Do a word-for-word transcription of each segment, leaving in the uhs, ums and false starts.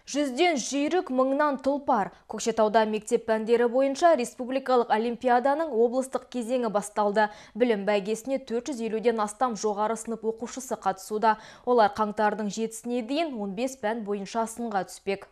Жүзден жүйрік, мыңнан тұлпар. Көкшетауда мектеп пәндері бойынша республикалық олимпиаданың облыстық кезеңі басталды. Білім бәйгесіне төрт жүз елуден астам жоғары сынып оқушысы қатысуда. Олар қаңтардың жетісіне дейін он бес пән бойынша сынға түспек.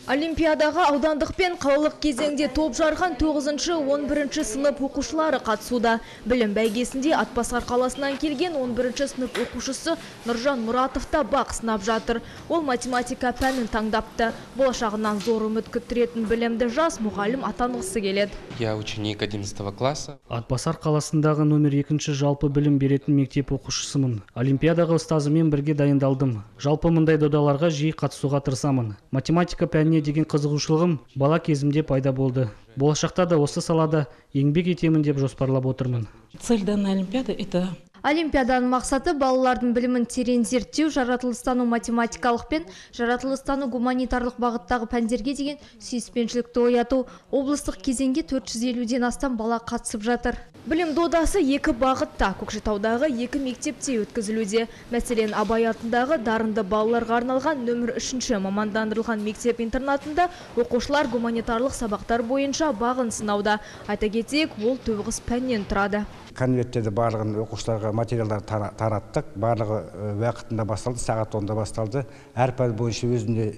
Олимпиадаға аудандық пен қалалық кезеңде топ жарған тоғызыншы он бірінші сынып оқушылары қатысуда. Білім бәйгесінде Атбасар қаласынан келген он бірінші сынып оқушысы Нұржан Мұратов та бақ сынап жатыр. Ол математика пәнін таңдапты. Болашағынан зор үміт күттіретін білімді жас мұғалім атанғысы келеді. Я ученик одиннадцатого класса. Атбасар қаласындағы номер екінші жалпы білім беретін мектеп оқушысымын. Олимпиадаға ұстазымен бірге дайындалдым. Жалпы мұндай додаларға жиі қатысуға тырысамын. Математика пәніне деген қызығушылығым бала кезімде пайда болды. Болашақта да осы салада еңбек етемін деп жоспарлап отырмын. Цель данной олимпиады – это Олимпиаданың мақсаты балалардың білімін терең зерттеу, жаратылыстану математикалық пен жаратылыстану гуманитарлық бағыттағы пәндерге деген сүйіспеншілікті ояту. Облыстық кезеңге төрт жүз елуден астам бала қатысып жатыр. Білім додасы екі бағытта Көкшетаудағы екі мектепте өткізілуде. Мәселен, Абай атындағы дарынды балаларға арналған нөмір үшінші мамандандырылған мектеп-интернатында оқушылар гуманитарлық сабақтар бойынша бағын сынауда. Айта кетейік, ол тоғыз пәннен тұрады. Конверттерді барлығын оқушыларға материалдар тараттық. Барлығы уақытында басталды, сағат онда басталды. Әр пән бойынша өзінде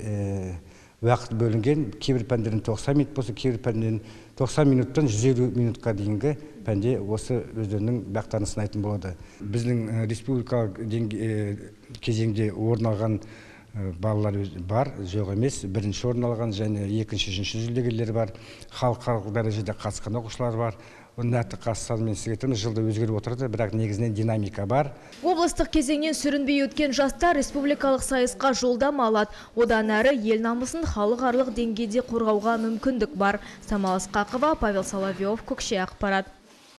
уақыт бөлінген. Кейбір пәндерін тоқсан минут болса, кейбір пәндерін тоқсан минуттан жүз елу минутқа дейінгі пәнде осы өздерінің бақтарын сынайтын болады. Біздің республикалық кезеңде орын алған балалар бар, жоқ емес. Бірінші орын алған және екінші, үшінші жүлдегерлер бар. Халықаралық дәрежеде қатысқан оқушылар бар. Нақты қатысумен сіздердің жылда өзгеріп отырды, бірақ негізінен динамика бар. Облыстық кезеңнен сүрінбей өткен жастар республикалық сайысқа жолдама алады. Одан әрі ел намысын халықаралық деңгейде қорғауға мүмкіндік бар. Самал Ысқақова, Павел Соловьев, Көкше ақпарат.